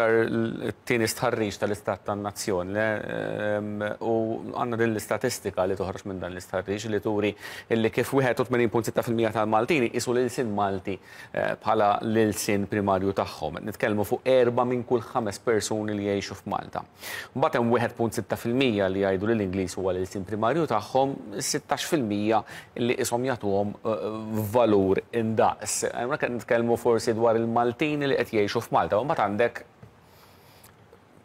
It-tieni stħarriġ tal-Istat tan-Nazzjon u għandna din l-istatistika li toħroġ minn dan l-istħarriġ li turi li kif 81.6% tal-Maltin iqisu l-ilsien Malti bħala l-ilsien primarju tagħhom. Qed nitkellmu fuq erba' minn kull ħames persuni li jgħixu f'Malta. Mbagħad hemm 1.6% li jgħidu li l-Ingliż huwa l-ilsien primarju tagħhom, 16% li qishom jagħtuhom valur indaqs. Hawnhekk qed nitkellmu forsi dwar il-Maltin li qed jgħixu f'Malta, u mbagħad għandek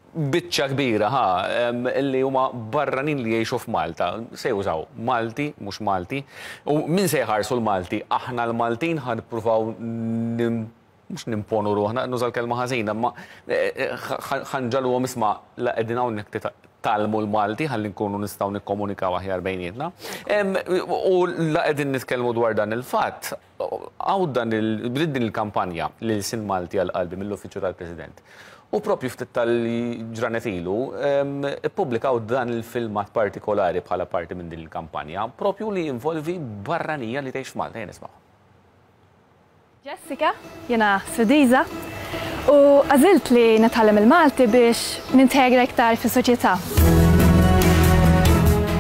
biċċa kbira ħa li huma barranin li jgħixu f'Malta. Se jużaw Malti, mhux Malti. U min se jħarsu l-Malti? Aħna l-Maltin ħa nippruvaw mhux nimponu ruħna, nuża l-kelma ħażina, imma ħa nġagħluhom isma' la qegħdin hawnhekk titgħallmu l-Malti ħalli nkunu nistgħu nikkomunikaw aħjar bejnietna. U la qegħdin nitkellmu dwar dan il-fatt, hawn dan il bdiet din il-kampanja l-ilsien Malti għal qalbi mill-Uffiċċju tal-President. U propju ftit tal-ġranet ilu ippubblikaw dan il-filmat partikolari bħala parti minn din il-kampanja, propju li jinvolvi barranija li tgħix f'Malta. Ejja nismgħu. Jessica, jiena Svediża u għażilt li nitgħallem il-Malti biex nintegra iktar fis-soċjetà.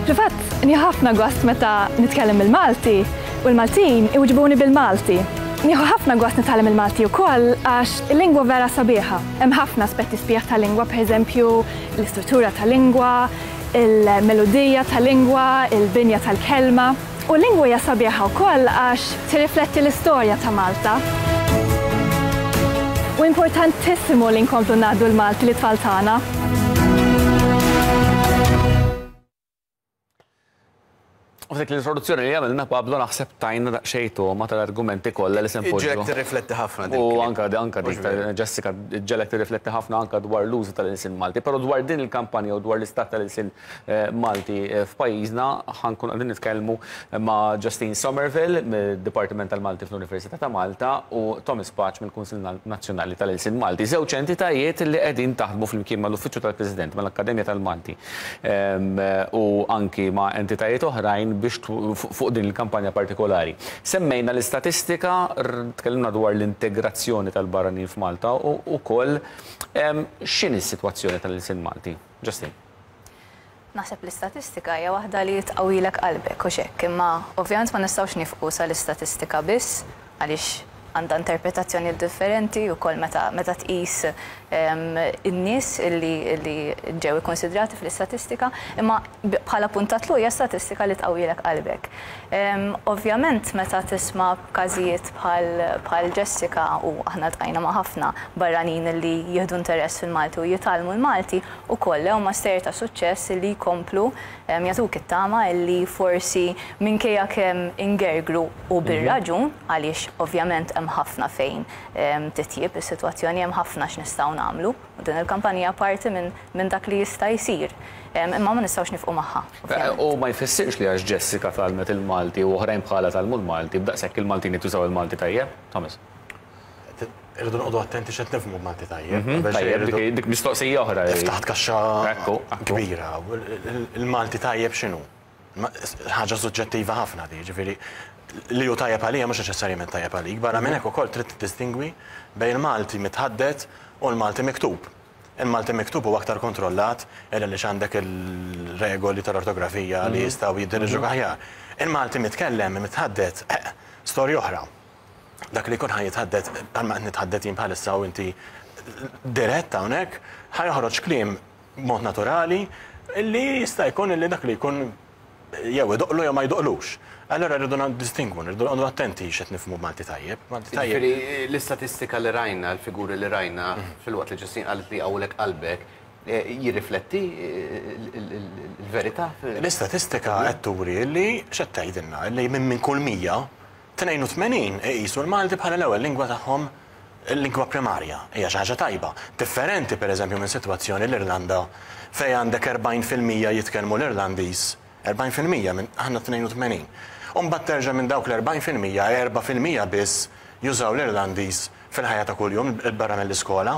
Fil-fatt, nieħu ħafna gost meta nitkellem bil-Malti u l-Maltin iwiġbuni bil-Malti. Nieħu ħafna gost nitgħallem il-Malti wkoll għax il-lingwa vera sabiħa. Hemm ħafna aspetti sbieħ tal-lingwa, pereżempju l-istruttura tal-lingwa, il-melodija tal-lingwa, il-binja tal-kelma. U l-lingwa hija sabiħa wkoll għax tirrifletti l-istorja ta' Malta. U importantissimu li nkomplu ngħaddu l-Malti lit-tfal tagħna. U f'dik l-introduzzjoni li għamilna Pablo naħseb tajna daqsxejn togħma tal-argumenti kollha li se npoġġu. Iġġegħlek tirrifletti ħafna din. U anka anka dik ta' Jessica ġġegħlek tirrifletti ħafna anka dwar l-użu tal-ilsien Malti, però dwar din il-kampanja u dwar l-istat tal-ilsien Malti f'pajjiżna ħa nkunu qegħdin nitkellmu ma' Justine Somerville mid-Dipartiment tal-Malti fl-Università ta' Malta u Thomas Pace mill-Kunsill Nazzjonali tal-Ilsien Malti. Żewġ entitajiet li qegħdin taħdmu flimkien mal-Uffiċċju tal-President, mal-Akkademja tal-Malti u anki ma' entitajiet oħrajn biex fuq din il-kampanja partikolari. Semmejna l-istatistika, tkellimna dwar l-integrazzjoni tal-barranin f'Malta u wkoll x'inhi s-sitwazzjoni tal-ilsien Malti. Justine. Naħseb l-istatistika hija waħda li tqawwilek qalbek hux hekk, imma ovvjament ma nistgħux nifqu sal-istatistika biss għaliex għandha interpretazzjonijiet differenti wkoll meta meta tqis in-nies illi illi ġew ikkunsidrati fl-istatistika, imma bħala punt ta' tluq hija statistika li tqawwilek qalbek. Ovvjament meta tisma' b'każijiet bħal bħal Jessica u aħna ltqajna ma' ħafna barranin illi jieħdu interess fil-Malti u jitgħallmu l-Malti, ukoll huma stejjer ta' suċċess illi jkomplu jagħtuk it-tama illi forsi minkejja kemm ingergru u bir-raġun għaliex ovvjament hemm ħafna fejn titjieb is-sitwazzjoni, hemm ħafna x'nistgħu nagħmlu u din il-kampanja hija parti minn dak li jista' jsir. Imma ma nistgħux nifqu magħha, ovvjament. U ma jfissirx li għax Jessica tgħallmet il-Malti u oħrajn bħalha tgħallmu l-Malti, b'daqshekk il-Maltin qed jużaw il-Malti tajjeb? Thomas. Irridu noqogħdu attenti x'qed nifhmu b'Malti tajjeb. Tajjeb, dik mistoqsija oħra. Ftaħt kaxxa kbira. Il-Malti tajjeb x'inhu? Ħaġa suġġettiva ħafna di, ġifieri li hu tajjeb għalija mhux neċessarjament tajjeb għalik. Barra minn hekk ukoll trid tiddistingwi bejn il-Malti mitħaddet u l-Malti miktub. Il-Malti miktub huwa aktar kontrollat għaliex għandek il-regoli tal-ortografija li jistgħu jiddiriġuk aħjar. Il-Malti mitkellem, mitħaddet, storja oħra. Dak li jkun ħa jitħaddet bħalma qed nitħaddet jien bħalissa u inti dirett hawnhekk, ħa joħroġ kliem b'mod naturali li jista' jkun li dak li jkun jew idoqqlu jew ma jdoqqlux. Allura rridu niddistingwu, rridu noqogħdu attenti x'qed nifhmu b'Malti tajjeb. Malti tajjeb. Jiġifieri l-istatistika li rajna, l-figuri li rajna, filwaqt li Ġustin qalet li jqawwlek qalbek, jirrifletti l-verità? L-istatistika qed turi li x'qed tgħidilna? Li minn kull 100, 82 iqisu l-Malti bħala l-ewwel lingwa tagħhom, il-lingwa primarja. Hija xi ħaġa tajba. Differenti, pereżempju, minn sitwazzjoni l-Irlanda fejn għandek 40% jitkellmu l-Irlandiż, 40% minn, aħna 82. U mbagħad terġa' minn dawk l-40%, 4% biss jużaw l-Irlandiż fil-ħajja ta' kuljum 'il barra mill-iskola.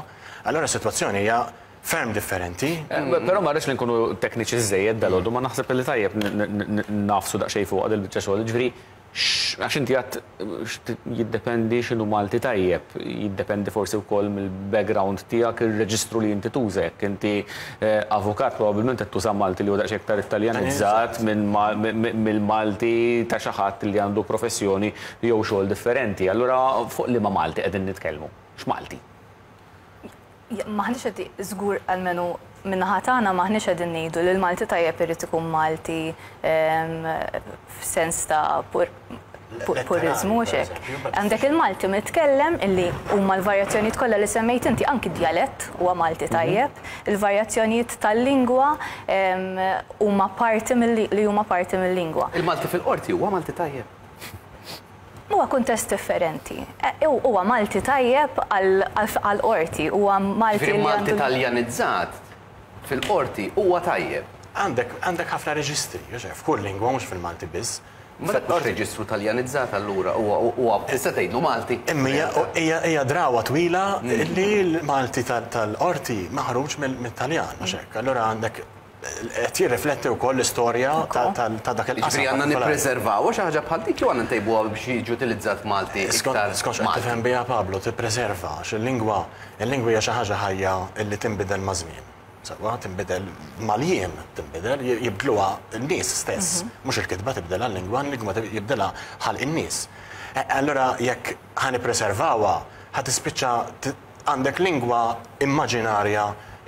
Allura s-sitwazzjoni hija ferm differenti. Però ma rridx li nkunu tekniċi żżejjed dalgħodu, ma naħseb li tajjeb nagħfsu daqsxejn fuqha dil-biċċa xogħol. Jiġifieri. Għax inti għedt jiddependi x'inhu Malti tajjeb, jiddependi forsi wkoll mill-background tiegħek, ir-reġistru li inti tuża. Jekk inti avukat probabbilment qed tuża Malti li huwa daqsxejn iktar Italjanizzat mill-Malti ta' xi ħadd li għandu professjoni jew xogħol differenti. Allura fuq liema Malti qegħdin nitkellmu? X'Malti? M'aħniex qed, żgur almenu min-naħa tagħna m'aħniex qegħdin ngħidu li l-Malti tajjeb irid ikun Malti f'sens ta' puriżmu mhux hekk. Għandek il-Malti mitkellem illi huma l-varjazzjonijiet kollha li semmejt inti, anki d-djalett huwa Malti tajjeb, il-varjazzjonijiet tal-lingwa huma parti li huma parti mil-lingwa. Il-Malti fil-qorti huwa Malti tajjeb? Huwa kuntest differenti. Huwa Malti tajjeb għall-qorti, huwa Malti li għandu. Ġifieri Malti Taljanizzat fil-qorti huwa tajjeb. Għandek għandek ħafna reġistri, f'kull lingwa mhux fil-Malti biss. Ma dak mhux reġistru Taljanizzat allura huwa huwa tista' tgħidlu Malti. Imma hija hija hija drawa twila li l-Malti tal-qorti maħruġ mit-Taljan, mhux hekk. Allura għandek qed jirrifletti wkoll l-istorja ta' dak il-qasam. Jiġifieri għandna nippreservawha xi ħaġa bħal dik jew għandna ntejbuha biex jiġi utilizzat Malti iktar? Skont x'qed tifhem biha Pablo, tippreserva għax il-lingwa il-lingwa hija xi ħaġa ħajja li tinbidel maż-żmien. Sewwa, tinbidel mal-jiem, tinbidel, jibdluha n-nies stess. Mhux il-kitba tibdilha l-lingwa, il-lingwa jibdilha ħalq in-nies. Allura jekk ħa nippreservawha, ħa tispiċċa Għandek lingwa immaġinarja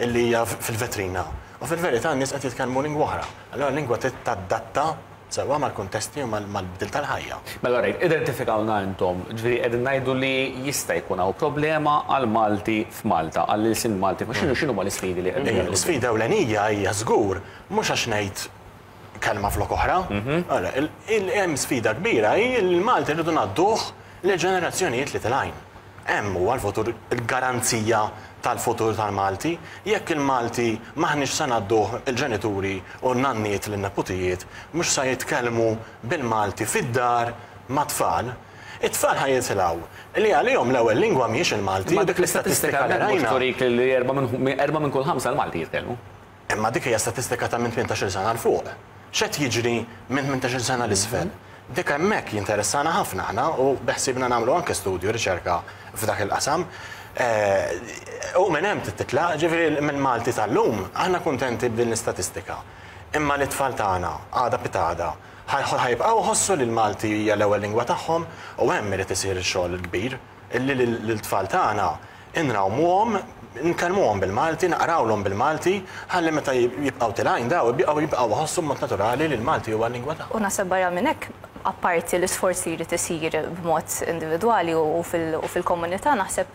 li hija fil-vetrina u fil-verità n-nies qed jitkellmu lingwa oħra. Allura l-lingwa trid tadatta sewwa mal-kuntesti u mal-bdil tal-ħajja. Mela rajt, identifikawlna intom, ġifieri qegħdin ngħidu li jista' jkun hawn problema għall-Malti f'Malta, għall-ilsien Malti, x'inhu x'inhuma l-isfidi li qegħdin Ejja, l-isfida ewlenija hija żgur mhux għax ngħid kelma flok oħra. Ara, hemm sfida kbira hi li l-Malti rridu ngħadduh lill-ġenerazzjonijiet li tilgħin. Hemm huwa l-futur, il-garanzija tal-futur tal-Malti. Jekk il-Malti m'aħniex se ngħadduh il-ġenituri u n-nanniet lin-neputijiet mhux sa jitkellmu bil-Malti fid-dar mat-tfal, it-tfal ħa jitilgħu li għalihom l-ewwel lingwa mhijiex il-Malti u dik l-istatistika li rajna. Imma dik l-istatistika mhux turik li erbgħa minn kull ħamsa l-Malti jitkellmu. Imma dik hija statistika ta' minn 18-il sena 'l fuq. X'qed jiġri minn 18-il sena 'l isfel? Dik hemmhekk jinteressana ħafna aħna u beħsiebna nagħmlu anke studju, riċerka f'dak il-qasam. U minn hemm trid titlaq, ġifieri mill-Malti tal-lum aħna kuntenti b'din l-istatistika. Imma lit-tfal tagħna, għada pitgħada, ħa jibqgħu jħossu li l-Malti hija l-ewwel lingwa tagħhom u hemm irid isir ix-xogħol il-kbir. Illi lil-tfal tagħna nrawmuhom, nkellmuhom bil-Malti, naqrawlhom bil-Malti, ħalli meta jibqgħu tilgħin daw jibqgħu jibqgħu jħossu b'mod naturali li l-Malti huwa l-lingwa tagħhom. U naħseb barra minn hekk, apparti l-isforz li jrid isir b'mod individwali u fil-komunità, naħseb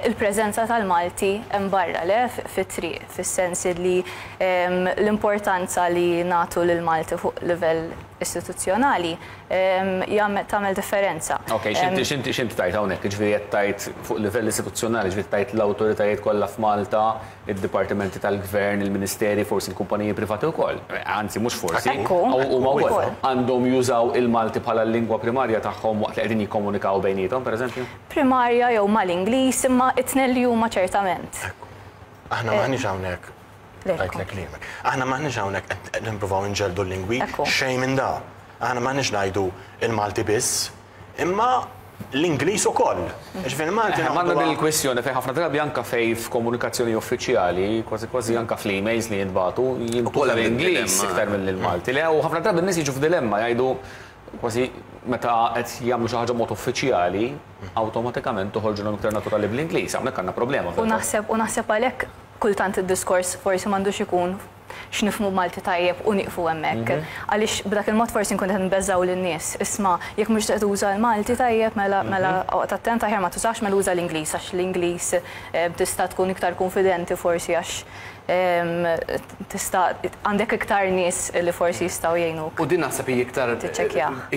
il-preżenza tal-Malti hemm barra, le, fit-triq, fis-sens li l-importanza li nagħtu lill-Malti fuq livell istituzzjonali tagħmel differenza. Ok, x'inti x'inti x'inti tgħid hawnhekk? Jiġifieri qed tgħid fuq livell istituzzjonali, jiġifieri tgħid l-awtoritajiet kollha f'Malta, id-dipartimenti tal-gvern, il-ministeri, forsi l-kumpaniji privati wkoll. Anzi, mhux forsi, huma wkoll għandhom jużaw il-Malti bħala l-lingwa primarja tagħhom waqt li qegħdin jikkomunikaw bejniethom, pereżempju? Primarja jew mal-Ingliż, imma t-tnejn li huma ċertament. Ekku. Aħna m'aħniex hawnhekk Għidtlek kliemek. Aħna m'aħniex hawnhekk qed nippruvaw inġelldu l-lingwi, xejn minn da. Aħna m'aħniex ngħidu l-Malti biss, imma l-Ingliż ukoll. Jiġifieri l-Malti Eħe, m'għandna din il-kwistjoni fejn ħafna drabi anke fejn f'komunikazzjoni uffiċjali, kważi kważi anke fl-emails li jintbagħtu, jintuża l-Ingliż iktar milli l-Malti. Le, u ħafna drabi n-nies jiġu f'dilemma jgħidu kważi meta qed jagħmlu xi ħaġa b'mod uffiċjali, awtomatikament toħorġilhom iktar naturali bl-Ingliż. Hawnhekk għandna problema U naħseb u naħseb għalhekk kultant id-diskors forsi m'għandux ikun x'nifhmu b'Malti tajjeb u nieqfu hemmhekk. Għaliex b'dak il-mod forsi nkunu qed nbeżżgħu lin-nies. Isma', jekk mhux qed tuża l-Malti tajjeb mela mela oqgħod attent aħjar ma tużax mela uża l-Ingliż għax l-Ingliż tista' tkun iktar kunfidenti forsi għax tista' għandek iktar nies li forsi jistgħu jgħinuk. U din naħseb hi iktar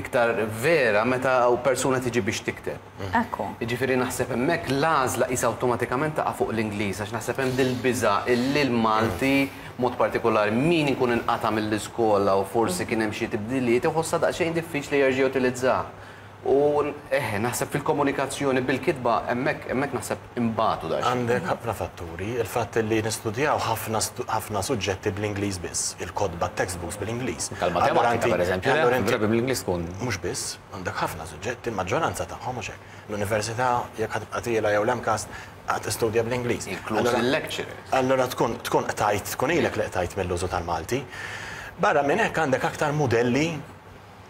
iktar vera meta persuna tiġi biex tikteb. Ekku. Jiġifieri naħseb hemmhekk l-għażla qisha awtomatikament taqa' fuq l-Ingliż għax naħseb hemm dil-biża' illi l-Malti, b'mod partikolari min ikun inqata' mill-iskola u forsi kien hemm xi tibdiliet, iħossha daqsxejn diffiċli jerġa' jutilizzah. U eħe, naħseb fil-komunikazzjoni bil-kitba hemmhekk hemmhekk naħseb inbatu daqsxejn. Għandek ħafna fatturi, il-fatt li nistudjaw ħafna ħafna suġġetti bl-Ingliż biss, il-kotba textbooks bl-Ingliż. Tal-matematika, per eżempju, drabi bl-Ingliż tkun. Mhux biss, għandek ħafna suġġetti, il-maġġoranza tagħhom mhux hekk. L-università jekk ħa tibqa' tiela' jew l-MCAST ħa tistudja bl-Ingliż. Inkluż il-lecturers. Allura tkun tkun qtajt, tkun ilek li qtajt mill-użu tal-Malti. Barra minn hekk għandek aktar mudelli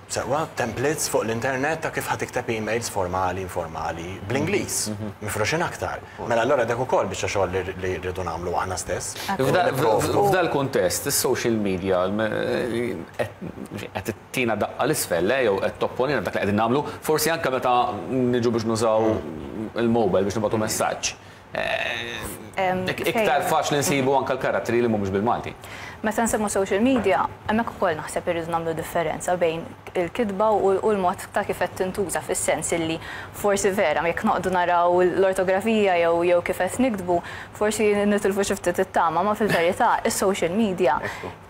sewwa, templates fuq l-internet ta' kif ħa tikteb emails formali, informali, bl-Ingliż, mifruxin aktar. Mela allura dak ukoll biċċa xogħol li rridu nagħmlu aħna stess. F'dal kuntest, is-social media qed tina daqqa l-isfel, jew qed topponina dak li qegħdin nagħmlu, forsi anke meta niġu biex nużaw il-mobile biex nibgħatu messaġġ. Iktar faċli nsibu anke l-karattri li mhumiex bil-Malti. Meta nsemmu social media, hemmhekk ukoll naħseb irridu nagħmlu differenza bejn il-kitba u l-mod ta' kif qed tintuża, fis-sens illi forsi vera jekk noqogħdu naraw l-ortografija jew kif qed niktbu, forsi nitilfu xi ftit it-tama, ma fil-verità is-social media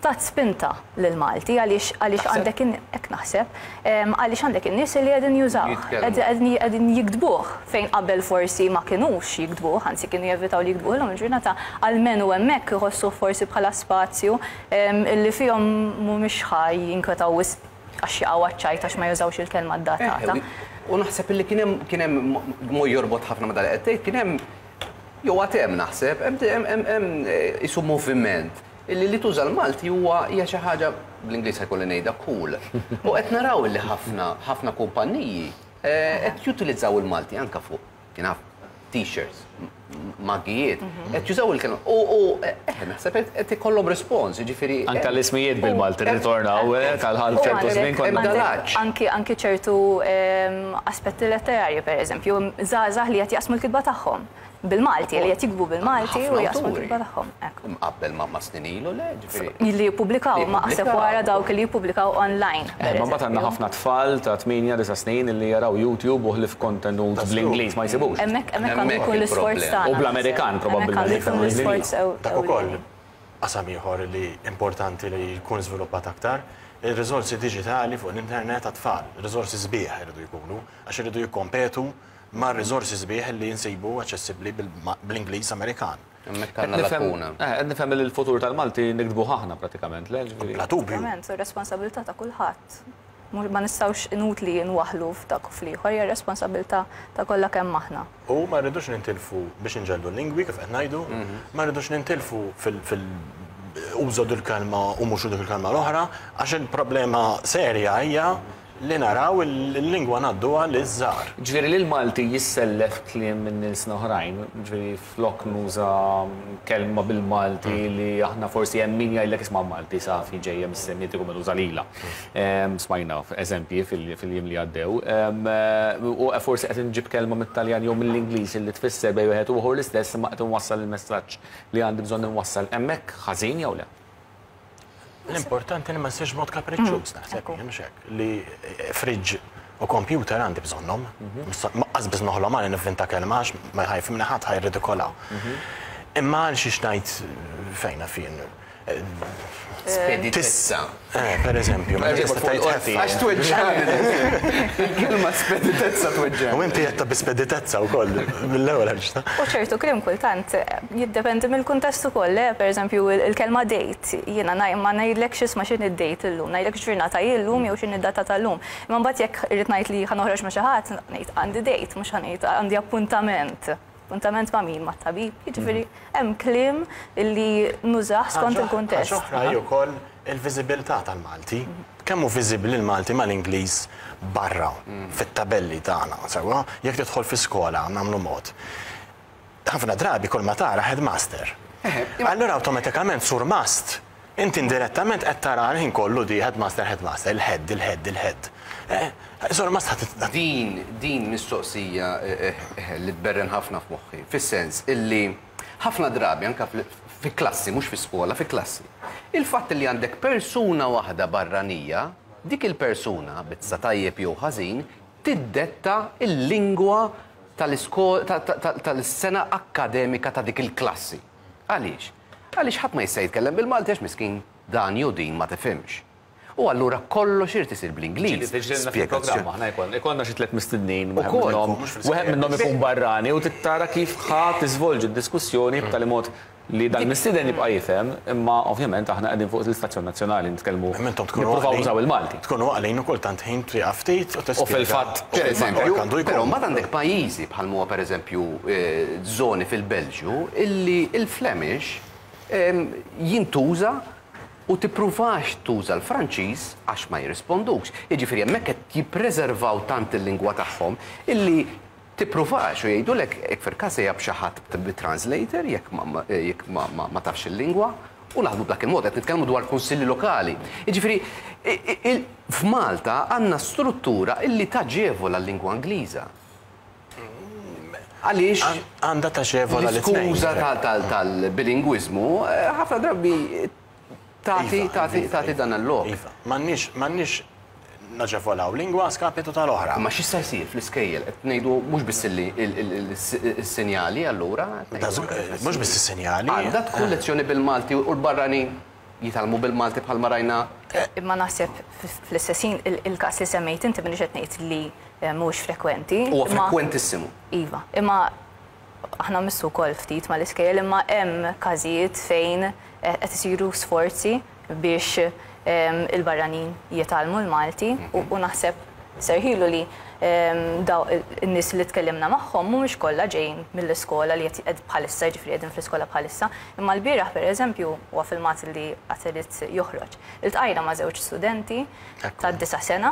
tat spinta lill-Malti għaliex għaliex għandek hekk naħseb, għaliex għandek in-nies li qegħdin jużawh, qegħdin jiktbuh fejn qabel forsi ma kinux jiktbuh, anzi kienu jevitaw li jiktbuh, illum il-ġurnata almenu hemmhekk iħossuh forsi bħala spazju illi fihom mhumiex ħa jinkwetaw wisq għax jaqgħu għaċ-ċajt għax ma jużawx il-kelma addattata. U naħseb illi kien hemm kien hemm jorbot ħafna ma' dak li qed tgħid, kien hemm jew għad hemm naħseb, hemm hemm qisu moviment illi li tuża l-Malti huwa hija xi ħaġa, bl-Ingliż ħa jkolli ngħidha, cool. U qed naraw illi ħafna ħafna kumpanniji qed jutilizzaw il-Malti anke fuq, jien naf, t-shirts, magijiet, qed jużaw il-kelma. U eħe, naħseb qed ikollhom respons, jiġifieri. Anke l-ismijiet bil-Malti rritornaw tal-ħal ċertu żmien konna. Anki anki ċertu aspetti letterarji, pereżempju, żgħażagħ li qed jaqsmu l-kitba tagħhom bil-Malti, li qed jiktbu bil-Malti u jaqsmu l-kitba tagħhom. Mqabbel ma' snin ilu, le, ġifieri. Li jippubblikaw, ma aħseb wara dawk li jippubblikaw online. Ma mbagħad għandna ħafna tfal ta' 8, 9 snin li jaraw YouTube u ħlief kontenut bl-Ingliż ma jsibux. Hemmhekk hemmhekk għandu jkun l-isforz tagħna. U bl-Amerikan probabbilment. L-isforz. Dak ukoll qasam ieħor li importanti li jkun żviluppat aktar, ir-riżorsi diġitali fuq l-internet għat-tfal, riżorsi sbieħ iridu jkunu, għax iridu jikkompetu ma' riżorsi sbieħ li jinsibu aċċessibbli bl-Ingliż Amerikan. Hemmhekk għandna lakuna. Qed nifhem li l-futur tal-Malti niktbuh aħna pratikament, le? Bla dubju. Ovvjament, u responsabilità ta' kulħadd. Ma nistgħux inutli nwaħħlu f'dak u fl-ieħor, hija responsabilità ta' kollha kemm aħna. U ma rridux nintilfu biex inġellu l-lingwi kif qed ngħidu, ma rridux nintilfu fil użu dil-kelma u mhux dik il-kelma l-oħra, għax il-problema serja hija li naraw il-lingwa ngħadduha liż-żgħar. Ġifieri li l-Malti jissellef kliem minn ilsna oħrajn, ġifieri flok nuża kelma bil-Malti li aħna forsi hemm min jgħidlek isma' Malti safi ġejja mis-Semitiku mela uża lilha. Smajna eżempji fil-jiem li għaddew. U forsi qed inġib kelma mit-Taljan jew mill-Ingliż li tfisser bejn wieħed u ieħor l-istess imma qed inwassal il-messaġġ li għandi bżonn inwassal. Hemmhekk ħażin jew le? L-importanti li ma ssirx mod kapriċċuż, naħseb jien, mhux hekk, li fridge u computer għandi bżonnhom. Lanqas biss noħlom għal nivvinta kelma għax ma ħa jifhimni ħadd, ħa jirridikola. Imma għal xiex ngħid fejna fien. Speditezza. Per eżempju, ma tista' tgħid ħeffa. Għax tweġġani. Il-kelma speditezza tweġġani. U inti qed bi speditezza wkoll mill-ewwel ħarġta. U ċertu kliem kultant jiddependi mill-kuntest ukoll, per eżempju il-kelma date, jiena ma ngħidlekx isma' x'inhi d-date illum, ngħidlek x'ġurnata hi llum jew x'inhi d-data tal-lum. Imma mbagħad jekk irrid ngħid li ħa noħroġ ma' xi ħadd, ngħid għandi date, mhux ħa ngħid għandi appuntament. Appuntament ma' min? Mat-tabib. Jiġifieri hemm kliem li nużah skont il-kuntest. Ħaġa oħra hi wkoll il-viżibilità tal-Malti. Kemm hu viżibbli l-Malti mal-Ingliż barra fit-tabelli tagħna, sewwa? Jekk tidħol fi skola nagħmlu mod. Ħafna drabi kull ma tara headmaster. Allura awtomatikament surmast, inti indirettament qed tara l-ħin kollu di headmaster, headmaster, il-head, il-head, il-head. Surmast ħadd Din din mistoqsija li tberren ħafna f'moħħi, fis-sens illi ħafna drabi anke fi klassi, mhux fi skola, fi klassi. Il-fatt li għandek persuna waħda barranija, dik il-persuna, bitsa tajjeb jew ħażin, tiddetta il-lingwa tal-sena akkademika ta' dik il-klassi. Għaliex? Għaliex ħadd ma jista' jitkellem bil-Malti għax miskin dan jew din ma tifhimx. U allura kollox irid isir bl-Ingliż. Ġieli tiġrilna fil-programm aħna jkollna ikollna xi tlett mistednin, wieħed minnhom wieħed minnhom ikun barrani u trid tara kif ħa tiżvolġi d-diskussjoni b'tali mod li dal-mistieden jibqa' jifhem, imma ovvjament aħna qegħdin fuq l-istazzjon nazzjonali nitkellmu nippruvaw nużaw il-Malti. Tkunu għaqlin u kultant ħin tieqaf ftit u tispjega. U fil-fatt, Per eżempju, però mbagħad għandek pajjiżi bħal m'huwa per eżempju żoni fil-Belġju illi l-Flemish jintuża u tippruvax tuża l-Franċiż għax ma jirrispondukx. Jiġifieri hemmhekk qed jippreservaw tant il-lingwa tagħhom illi tippruvax u jgħidulek jekk fil-każ ejja b'xi ħadd bi translator jekk jekk ma tafx il-lingwa u naħdmu b'dak il-mod, qed nitkellmu dwar kunsilli lokali. Jiġifieri f'Malta għandna struttura illi taġevola l-lingwa Ingliża. Għaliex Għandha taġevola l-iskuża tal-bilingwiżmu ħafna drabi tagħti tagħti tagħti dan il-lok. Iva, m'għandniex m'għandniex naġevolaw lingwa a skapitu tal-oħra. Imma x'jista' jsir fl-iskejjel? Qed ngħidu mhux biss is-sinjali allura. Mhux biss is-sinjali. Għandha tkun lezzjoni bil-Malti u l-barranin jitgħallmu bil-Malti bħalma rajna. Imma naħseb fl-istess ħin il-każ li semmejt inti m'iniex qed ngħid li mhuwiex frekwenti. Huwa frekwentissimu. Iva. Imma aħna mmissu wkoll ftit mal-iskejjel imma hemm każijiet fejn qed isiru sforzi biex il-barranin jitgħallmu l-Malti u naħseb serħilu li daw in-nies li tkellimna magħhom mhumiex kollha ġejjin mill-iskola li qed bħalissa, jiġifieri qegħdin fl-iskola bħalissa, imma lbieraħ pereżempju, huwa filmat li għad irid joħroġ, iltqajna ma' żewġ studenti tad-disa' sena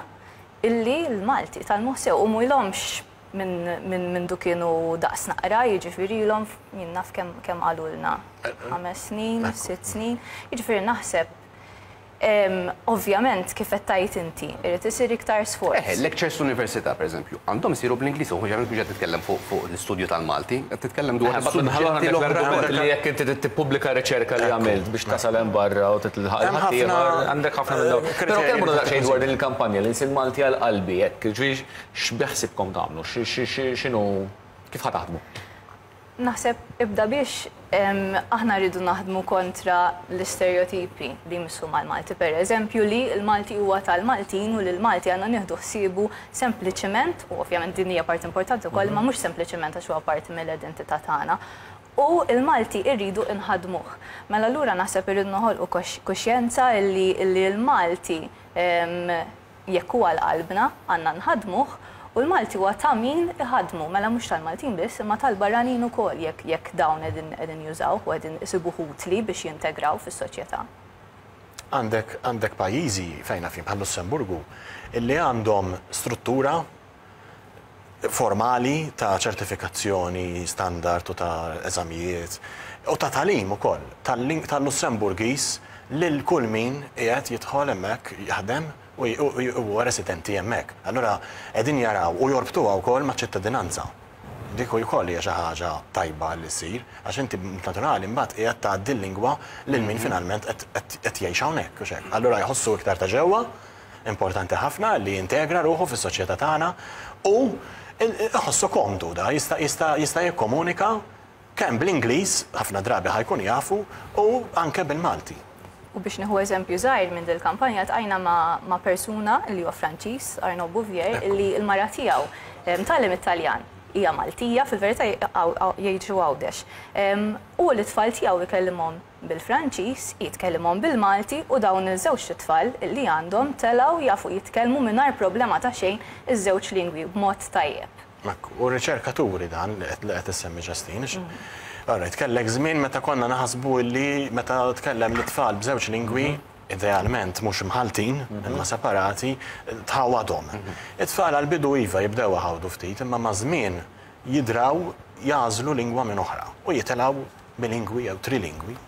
illi l-Malti tgħallmuh sew u m'ilhomx minn mindu kienu daqs naqra, jiġifieri ilhom jien naf kemm kemm qalulna, ħames snin, sitt snin, jiġifieri naħseb ovvjament kif qed tgħid inti, irid isir iktar sforz. Eħe, lectures fl-università pereżempju, għandhom isiru bl-Ingliż, u mhux qed titkellem fuq l-istudju tal-Malti, qed titkellem dwar is-suġġetti l-oħra. Li jekk inti trid tippubblika riċerka li għamilt biex tasal hemm barra u titlħaq il-ħaddieħor, għandek ħafna minn dawn. Però kellmuna daqsxejn dwar din il-kampanja l-Ilsien Malti għal qalbi hekk, jiġifieri x'beħsiebkom tagħmlu, x'inhu, kif ħa taħdmu? Naħseb ibda biex aħna rridu naħdmu kontra l-istereotipi li jmissu mal-Malti. Per eżempju li l-Malti huwa tal-Maltin u li l-Malti għandna nieħdu ħsiebu sempliċement, u ovvjament din hija parti importanti wkoll, imma mhux sempliċement għax huwa parti mill-identità tagħna. U l-Malti rridu nħaddmuh. Mela allura naħseb irridu noħolqu kuxjenza illi l-Malti Jekk hu għal qalbna, għandna nħaddmuh, u l-Malti huwa ta' min iħaddmu, mela mhux tal-Maltin biss, imma tal-barranin ukoll jekk jekk dawn qegħdin qegħdin jużawh u qegħdin isibuh utli biex jintegraw fis-soċjetà. Għandek għandek pajjiżi fejn naf jien bħal-Lussemburgu illi għandhom struttura formali ta' ċertifikazzjoni standard u ta' eżamijiet u ta' tagħlim ukoll tal-Lussemburgiż lil kull min qiegħed jidħol hemmhekk jaħdem u huwa residenti hemmhekk. Allura qegħdin jaraw u jorbtuha wkoll maċ-ċittadinanza. Dik ukoll hija xi ħaġa tajba li ssir għax inti b'mod naturali mbagħad qiegħed tgħaddi l-lingwa lil min finalment qed jgħix hawnhekk, hux hekk? Allura jħossu iktar ta' ġewwa Importanti ħafna li jintegra ruħu fis-soċjetà tagħna u iħossu komdu da, jista' jista' jista' jikkomunika kemm bl-Ingliż, ħafna drabi ħa jkun jafu, u anke bil-Malti. U biex nieħu eżempju żgħir minn dil-kampanja ltqajna ma' ma' persuna li huwa Franċiż, Arnaud Bouvier, li l-mara tiegħu tgħallem it-Taljan, hija Maltija, fil-verità jgħixu Għawdex. Hu lit-tfal tiegħu jkellimhom bil-Franċiż, hi tkellimhom bil-Malti u dawn iż-żewġt itfal li għandhom telgħu jafu jitkellmu mingħajr problema ta' xejn iż-żewġ lingwi b'mod tajjeb. Ekku, u r-riċerka turi dan li qed issemmi Justine, għax all right, kellek żmien meta konna naħsbu li meta tkellem lit-tfal b'żewġ lingwi, idealment mhux imħalltin, imma separati, tħawwadhom. It-tfal għall-bidu iva jibdew iħawdu ftit, imma maż-żmien jidraw jagħżlu lingwa minn oħra u jitilgħu bilingwi jew trilingwi.